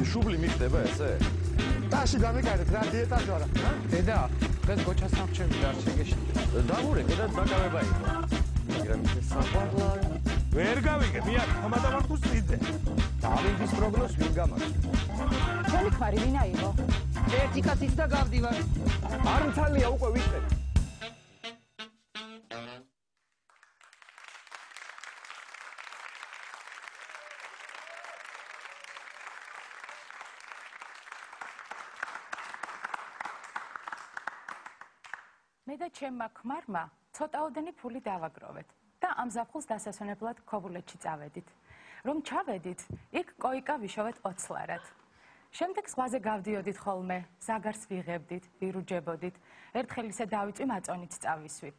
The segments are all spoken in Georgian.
შუბლი მიხდება ესე? ტაში გამიგარეთ რა დიეტაზე ვარა. დედა, დღეს გოჩას სამრჩევი დარჩენგეში. დამურეკე და დაკავება იყო. მაგრამ ის საყვარლა ვერ გავიგე, მია ხომადამართუს წიძე. დავინდის პროგნოზს ვინ გამარჯვებს? ჩემი ქმარი ვინ აიღო? ერთი კაცის და გავდივარ. არ მცალია უკვე ვიყეთ. მე და ჩემმა ქმარმა ცოტაოდენი ფული დავაგროვეთ და ამ ზაფხულს დასასვენებლად ქობულეთში წავედით. რომ ჩავედით, იქ კოიკა ვიშოვეთ 20 ლარად. შემდეგ ზღვაზე გავდიოდით ხოლმე, ზაგარს ვიღებდით, ვირუჯებოდით, ერთხელ ისე დავიწვი მაწონით წავისვი.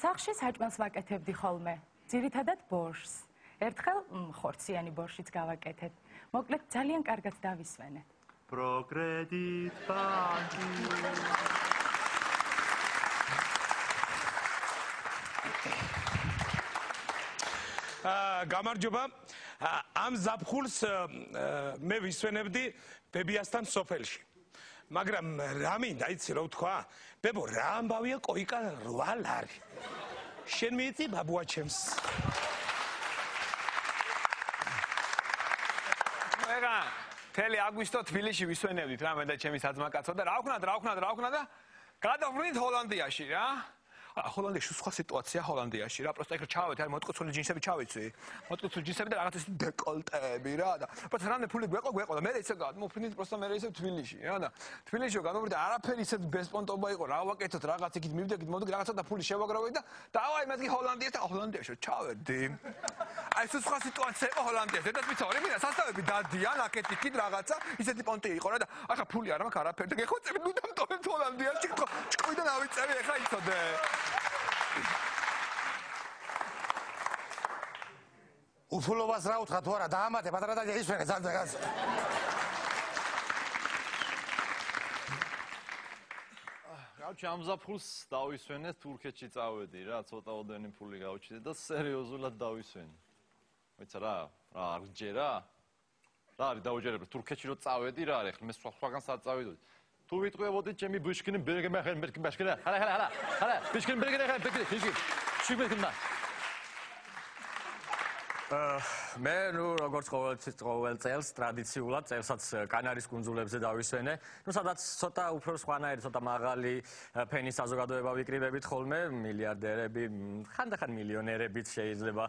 სახლში საჭმელს ვაკეთებდი ხოლმე, ძირითადად ბორშს. ერთხელ ხორციანი ბორშიც გავაკეთებ. მოკლედ ძალიან კარგად დავისვენე. პროკრედიტ ბანკი გამარჯობა. ამ ზაფხულს მე ვისვენებდი ბებიასთან სოფელში. მაგრამ რა მინდა, იცი რა ვთქვა? ბებო, რა ამბავია კოიკა 8 ლარი. შენ მიიწი ბაბუა ჩემს. ეგა თელი აგვისტო თბილისში ვისვენებდით რა მე და ჩემი საძმაკაცო და რა ვქნა და გადავვრინდით ჰოლანდიაში რა. ჰოლანდიაში სხვა სიტუაცია ჰოლანდიაში რა პროსტა იქ ჩავეთ აი მოტკუცული ჯინსები ჩავიცვი მოტკუცული ჯინსები და რაღაც ისეთი დეკოლტეები რა და პროსტა რამე ფული გვეყო და მე ისე მოფრინდით პროსტა მე ისე თბილისში რა და თბილისში განვვრით არაფერი ისე ბესპონტობა იყო რა ვაკეთოთ რაღაც იქით მივდებით მოდი რაღაცა და ფული შევაგროვეთ და დავაი მეთქი ჰოლანდიაში ჩავედი აი სხვა სიტუაცია იყო ჰოლანდიაში და ვიცოდი მინდა სასწავლები დადიან აქეთ იქით რაღაცა ისეთი პონტი იყო რა და ახლა ფული არ მაქვს არაფერი და გეხოცები ნუ დამტოვებ ჰოლანდიაში ჭკუიდან ავიწევი ახლა იცოდე უფულობას რა უთხრა თუ არა დაამატე პატარა და ისვენე ძალიან გავჩი ამ ზაფხულს დავისვენეთ თურქეთში წავედი რა ცოტაოდენი ფული გავჩიდე და სერიოზულად დავისვენე ვიცი რა არ გჯერა რა არის დაუჯერებლად თურქეთში რო წავედი რა არის ახლა მე სხვაგან სად წავიდოდი თუ ვიტყვევოდით ჩემი ბუშკინი ბერგე მახენ ბაშკინა ჰალა ბუშკინი ბერგე ხა ბექი შუბეკნა მე ნუ როგორც ყოველ წელს ტრადიციულად წელსაც კანარის კუნძულებზე დავისვენე. ნუ სადაც ცოტა უფრო სხვანაირი, ცოტა მაღალი ფენის საზოგადოება ვიკრიბებით ხოლმე, მილიარდერები, ხანდახან მილიონერებიც შეიძლება.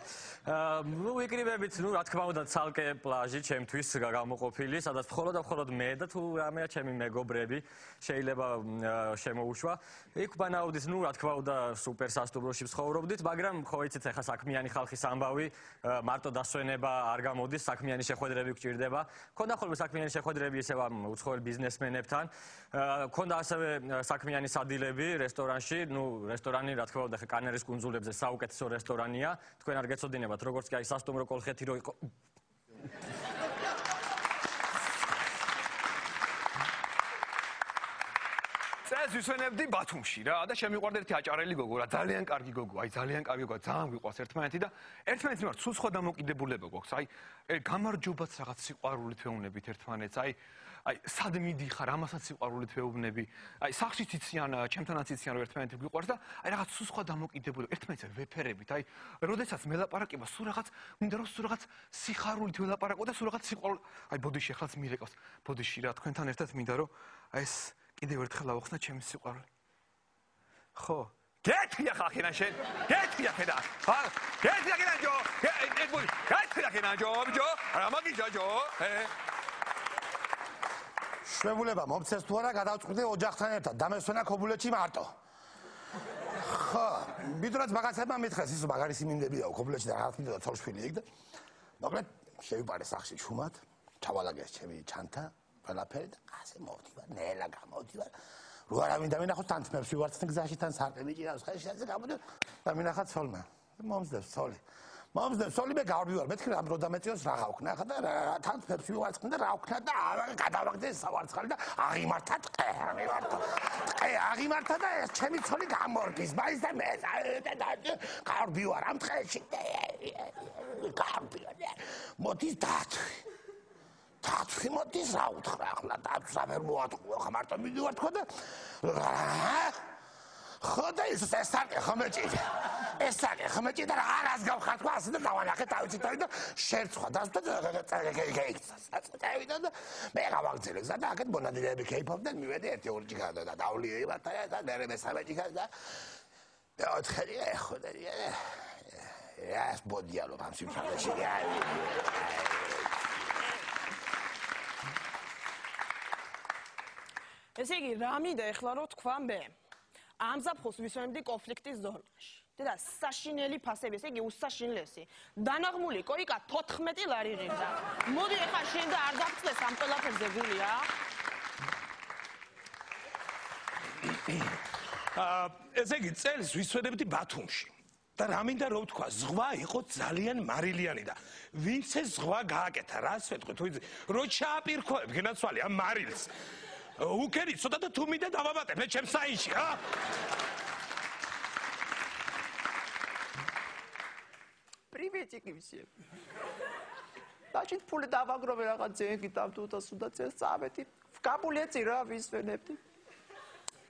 ნუ ვიკრიბებით, ნუ რა თქმა უნდა, ცალკე პლაჟი ჩემთვის გამოყოფილი, სადაც მხოლოდ მე და თუ რამეა ჩემი მეგობრები შეიძლება შემოუშვა. იქ ბანაუდის, ნუ რა თქმა უნდა, სუპერ სასტუმროში ვცხოვრობდით, მაგრამ ხო იცით, ახლა საქმიანი ხალხის ამბავი მარტო დასვენება არ გამოდის, საქმიანი შეხვედრები გჭირდება. ქონდა ხოლმე საქმიანი შეხვედრები ისევ ამ უცხოელ ბიზნესმენებთან. ქონდა ასევე საქმიანი სადილები რესტორანში, ნუ რესტორანი რა თქმა უნდა კანარის კუნძულებზე საუკეთესო რესტორანია. თქვენ არ გეცოდინებათ, როგორც კი აი სასტუმრო კოლხეთი რო იყო. წელს ვისვენებდი ბათუმში რა და შემიყვარდა ერთი აჭარელი გოგო რა ძალიან კარგი გოგო აი ძალიან კარგი გოგო ძალიან გვიყვარს ერთმანეთი და ერთმანეთის მიმართ სულ სხვა დამოკიდებულება გვაქვს აი გამარჯობაც რაღაც სიყვარულით ვეუბნებით ერთმანეთს აი სად მიდიხარ ამასაც სიყვარულით ვეუბნები აი სახლშიც იციან ჩემთანაც იციან რომ ერთმანეთი გვიყვარს და აი რაღაც სულ სხვა დამოკიდებულება ერთმანეთს ვეფერებით აი როდესაც მელაპარაკება სულ რაღაც მინდა რომ სულ რაღაც სიხარულით ველაპარაკო და სულ რაღაც სიყვარული აი ბოდიში ახლაც მირეკავს ბოდიში რა თქვენთან ერთად მინდა რომ აი ეს კიდევ ერთხელ ავხსნა ჩემი სიყვარული. ხო. გეთქია ხახინა შენ. გეთქია ხედა. ხა, გეთქია კიდე ჯო. გეთქია კიდე ჯო, ბიჭო. რა მაგიჯა ჯო? შვებულება მომცეს თუ არა გადავწყვიტე ოჯახთან ერთად დამესვენა ქობულეთში მარტო. ხო, მიდროც მაგაცებმა მითხეს ის მაგარი სიმინდებიაო ქობულეთში და რაღაც მიდოდა ცოლშვილი იქ და მოკლედ შევიპარე სახში ჩუმად, ჩავალაგეს ჩემი ჩანთა ყველაფერი და ასე მოვდივარ, ნელა გამოვდივარ. რო არა მინდა მინახოთ თანთმებს ვივარცხნ გზაში თან სარყები ჭირავს, ხელშეზე გამოდივარ და მინახათ ცოლმა. მომსდევს ცოლი. მომსდევს ცოლი მე გავდივარ, მეთქი რა რო დამეწიოს რა გავქნა ხა და თანთმებს ვივარცხნ და რა ვქნა და გადავაგდე სავარცხალი და აღიმართა ტყე, აღიმართა. ტყე აღიმართა და ეს ჩემი ცოლი გამორგის, მაინც და მე გავდივარ ამ ტყეში. გავდივარ. მოდის დათვი. დათვი მოდის რა უთხრა ახლა დათვს არ მოატყუა ხა მარტო მიდივარ თქო და ხოდა ეს საკე ხმეჭი და არას გავხარ თქო ასე და დავანახე თავიცით და შერცხვა დასვდა წავიდა და მე გავაგზავნე გზა და აქეთ მონადირეები ქეიფობდნენ მივედი ერთი ორი ჭიქა და დავლიერებად და მე მესამე ჭიქა და ოთხი ხოდა ეს ბოდიალო ამ სიმშრალეში ესე იგი რა მინდა ეხლა რო თქვა მე ამ ზაფხულს ვისვენებდი კონფლიქტის ზონაში და საშინელი ფასები ესე იგი უსაშინლესი დანაღმული კოიკა 14 ლარი ღირდა მოდი ეხლა შენ და არ დაგწეს ამ ყველაფერზე გულია ესე იგი წელს ვისვენებდი ბათუმში და რა მინდა რო ვთქვა ზღვა იყო ძალიან მარილიანი და ვინც ეს ზღვა გააკეთა რას ვეთქვი თუ იცი რო ჩააპირქოებ გენაცვალე ამ მარილს უკერი ცოტა და თუ მინდა დავაბატებ მე ჩემს საინში ხა Приветики всем. Значит, пуле დავაგროვე რაღაც ზენგი დავთუთა სუდა წელს წავედი. გაბულეცი რა ვისვენებდი.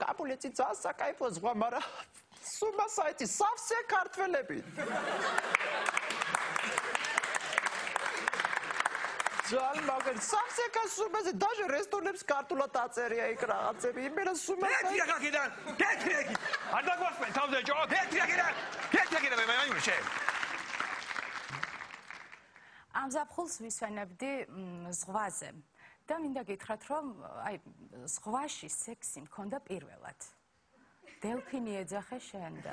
გაბულეცი ძას საკაიფო ზღვა, მაგრამ სუმა საიტი სავსე ქართველები. Жал მაგერ სავსე კასუმაზე даже რესტორნებს ქართულად აწერია იქ რაღაცები. იმენა სუმა გეთი აქედან. გეთი აქ. არ დაგვასწრე თავზე ჯო. გეთი აქედან. გეთი აქედან მე მაინურშე. ამ ზაფხულს ვისვენებდი ზღვაზე და მინდა გითხრათ რომ აი ზღვაში სექსი მქონდა პირველად დელფინი ეძახე შენ და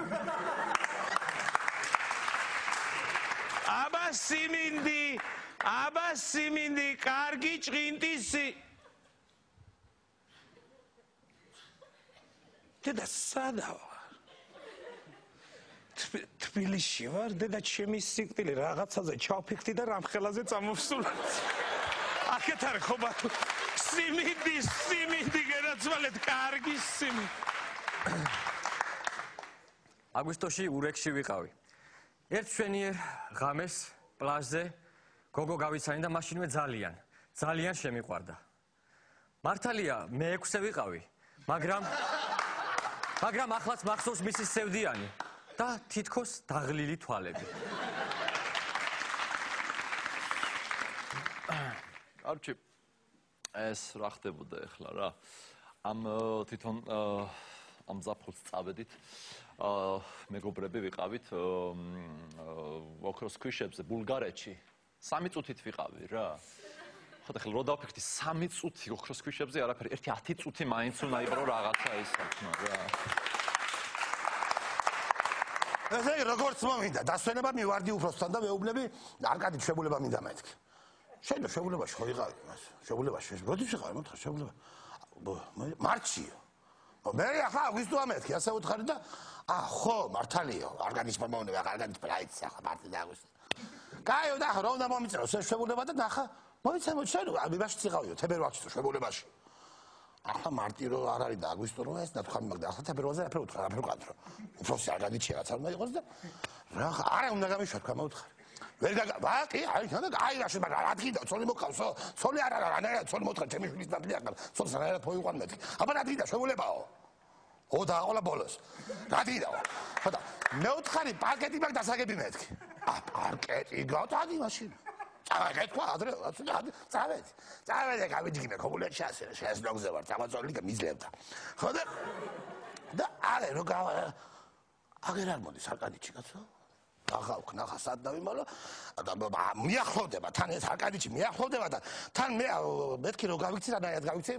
აბა siminდი კარგი ჭყინტისი და სადავა თბილისში ვარ და ჩემი სიკვდილი რაღაცაზე ჩავფიქრდი და რამხელაზე წამოვსულა. აქეთ არ ხობა siminდი გერაცვალეთ კარგი siminდი. აგვისტოში ურეკში ვიყავი. ერთ შვენიერ ღამეს პლაჟზე გოგო გავიცანი და მაშინვე ძალიან შემიყვარდა. მართალია მე 6-ე ვიყავი, მაგრამ ახლაც მახსოვს მისი სევდიანი. და თითქოს დაღლილი თვალები. არჩი ეს რა ხდებოდა ახლა რა? ამ თვითონ ამ ზაფხულს წავედით. მეგობრები ვიყავით ოქროს ქვიშებზე ბულგარეთში. 3 წუთით ვიყავი რა. ხოდა ხო რო დავფიქრდი 3 წუთი ოქროს ქვიშებზე არაფერი, ერთი 10 წუთი მაინც უნდა იყრო რაღაცა ის საქმე რა. ესე იგი როგორც მომინდა დასვენება მივარდი უფროსთან და მეუბნები არკადი შეგულება მინდა მეთქი. შენ შეგულებაში ხო იყავი მას? შეგულებაში როდის ვიყავი მოთხარ შეგულება? მარტშიო. მე ახლა აგვისტო ამეთქი ასე უთხარი და ხო მართალიო არკადის მომოვნება არკადის პრაიცი ახლა მარტი და აგვისტო. კაიო და რომ და მომიწევს ეს შეგულება და ნახა მოიცემ შენ ამიბაში წიყავიო თებერვალში შეგულებაში. ახლა მარტი რო არ არის და აგვისტო რო ეს და თქვა მაგდა ახლა თებერვალზე რაფერ უთხრა რაფერ ვკადრო უფროსი არგადი შეღაც არ უნდა იყოს და რა არა უნდა გამიშვა თქვა მოუთხარი ვერ ვაკი აი და აი რა შეიძლება რა თქიდა ცოლი მოყავსო ცოლი არ არა რანაირად ცოლი მოთხარ ჩემი შვილის ნაბლი ახლა ცოლს რანაირად მოიყვან მეთქი აბა რა თქიდა შეგულებაო ოდა აყოლა ბოლოს რა თქიდაო ხოდა მეუთხარი პარკეტი მაგ დასაგები მეთქი პარკეტი გავთადი მაშინ წავედი თქვა ადრე წავედი გავიჯგინე ქობულეთში ასე შეესნოგზე ვარ წამოწოლი და მიძლევდა ხო და არა რო აგერ არ მოდის არკადიჩი კაცო აღავ ნახა სად დავიმალო და მიახლოვდება თან ეს არკადიჩი მიახლოვდება და თან მე მეთქი რო გავიქცი რანაირად გავიქცი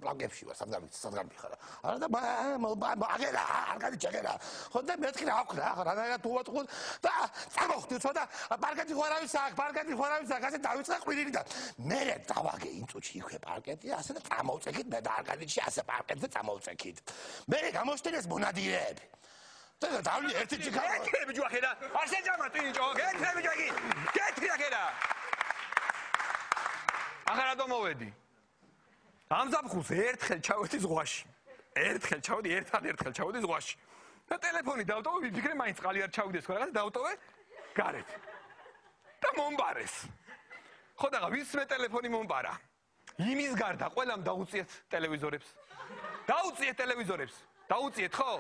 პლანკებში ვარ სად გამიხარა არა და აგერა არკადიჩი აგერა ხო და მეთქი რა ვქნა ახლა რანაირად უვატყო და წამოვხდი ცოტა პარკეტი ხوارავის აქ ასე დავიწყე ყვირილი და მე დავაგე იმ წუთში იქვე პარკეტი ასე და წამოვწექით მე და არკადიჩი ასე პარკეტზე წამოვწექით მე გამოშტენეს მონადირეები და დავლი ერთი ჭიქა გეთრები ჯუახედა არ შეჯამა ტინჭო გეთრები ჯაგი გეთრი აქედა ახლა რა მოვედი ამ ზაფხულს ერთხელ ჩავედი ზღვაში ერთადერთხელ ჩავედი ზღვაში და ტელეფონი დავტოვე ვიფიქრე მაინც წყალი არ ჩავიდეს ხო რაღაც დავტოვე გარეთ და მომბარეს ხო და ვის მე ტელეფონი მომპარა? იმის გარდა ყველამ დაუწიეთ ტელევიზორებს. დაუწიეთ ტელევიზორებს. დაუწიეთ ხო?